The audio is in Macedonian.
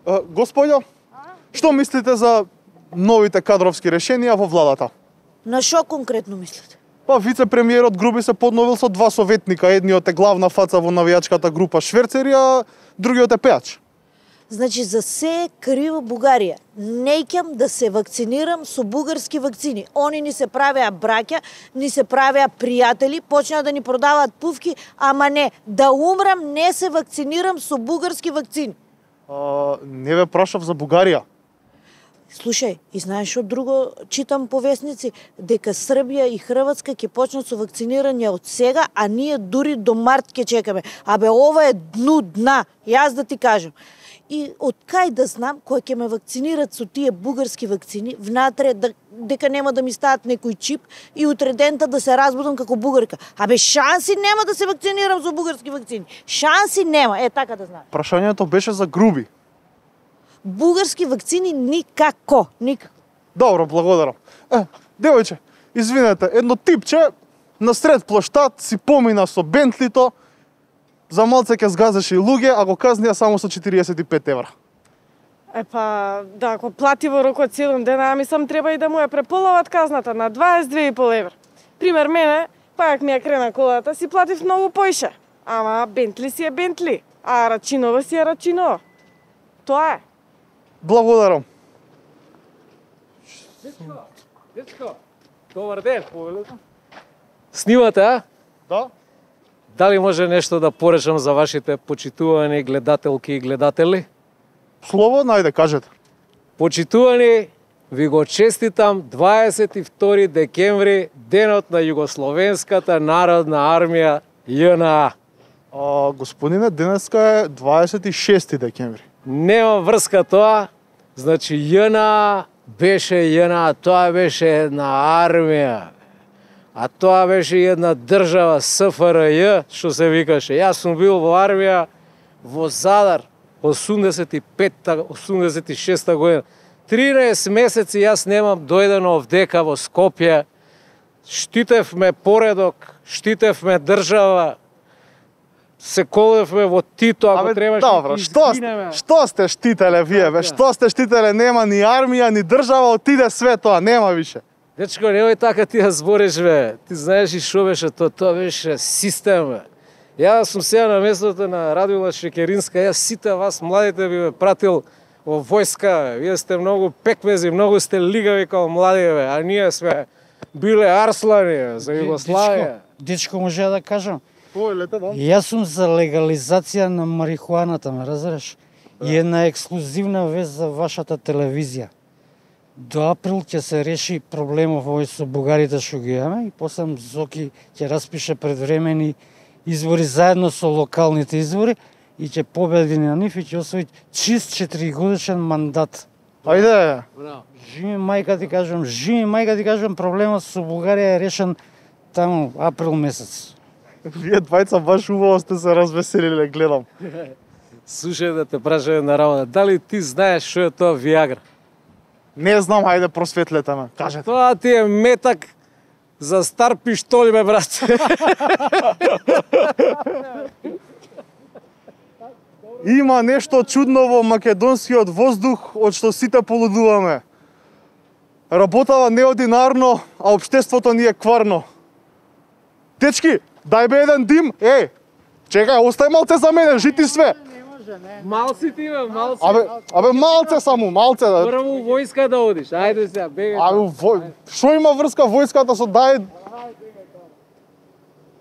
Господјо, што мислите за новите кадровски решенија во владата? На што конкретно мислите? Па вице-премиерот Груби се подновил со 2 советника, едниот е главна фаца во навијачката група Шверцери, а другиот е пејач. Значи за се е криво Бугарија. Неќам да се вакцинирам со бугарски вакцини. Они ни се правеа браќа, ни се правеа пријатели, почнаа да ни продаваат пувки, ама не, да умрам не се вакцинирам со бугарски вакцини. Не ве прашав за Бугарија. Слушај, и знаеш што друго читам по весници? Дека Србија и Хрватска ќе почнат со вакцинирање од сега, а ние дури до март ќе чекаме. Абе, ова е дна, јас да ти кажам. И од кај да знам кој ќе ме вакцинират со тие бугарски вакцини, внатре дека нема да ми стават некој чип и утре дента да се разбудам како бугарка. Абе, шанси нема да се вакцинирам со бугарски вакцини. Шанси нема, така да знам. Прашањето беше за Груби. Бугарски вакцини никако. Добро, благодарам. Девојче, извинете, едно типче насред плоштад си помина со Бентлито, за малце ќе сгазеше и луѓе, а го казнија само со 45 евра. Да, ако плати во рок од 7 дена, мислам треба и да му ја преполоват казната на 22,5 евра. Пример мене, пак ми ја крена колата, си платив многу поише. Ама Бентли си е Бентли, а Рачинова си е Рачинова. Тоа е. Благодарам. Дечко, добар ден. Снимате, а? Да. Дали може нешто да поречам за вашите почитувани гледателки и гледатели? Слободно, ајде, кажете. Почитувани, ви го честитам 22 декември, денот на Југословенската народна армија JNA. Господине, денеска е 26 декември. Нема врска тоа, значи JNA беше JNA, тоа беше една армија. А тоа беше една држава СФРЈ, што се викаше. Јас сум бил во армија во Задар 85-86 година. 13 месеци јас немам дојдено овдека во Скопје. Штитевме поредок, штитевме држава, се колевме во Тито, ако требаше добро, што сте штителе вие, бе? Што сте штителе? Нема ни армија, ни држава, отиде све тоа, нема више. Дечко, немој така ти ја збориш, бе. Ти знаеш и шо беше тоа, тоа беше систем, бе. Јас сум сега на местото на Радмила Шекеринска, јас сите вас младите би ме пратил во војска, вие сте многу пекмези, многу сте лигави као млади, бе, а ние сме биле арслани за Југославија. Дечко, може да кажам? Јас сум за легализација на марихуаната, ме разбираш? И една ексклузивна вест за вашата телевизија. До април ќе се реши проблемов овој со бугарите што ги имаме и после Зоки ќе распише предвремени избори заедно со локалните избори и ќе победи на нив и ќе освои чист 4-годишен мандат. Ајде. Живи мајка ти кажам, проблемот со Бугарија е решен таму април месец. Вие двајца баш убаво сте се развеселиле, гледам. Слушај да те прашам на работа, дали ти знаеш што е тоа Виагра? Не знам, ајде просветлете ме, кажете. Тоа ти е метак за стар пиштоли, бе, брат. Има нешто чудно во македонскиот воздух, од што сите полудуваме. Работава неординарно, а општеството ни е кварно. Дечки, дај бе еден дим, чекај, остај малце за мене, жити све. Малци ти, бе, малци. Абе, малце само, малце. Прво војска да одиш, ајде сега, бегај. Шо има врска војската со дај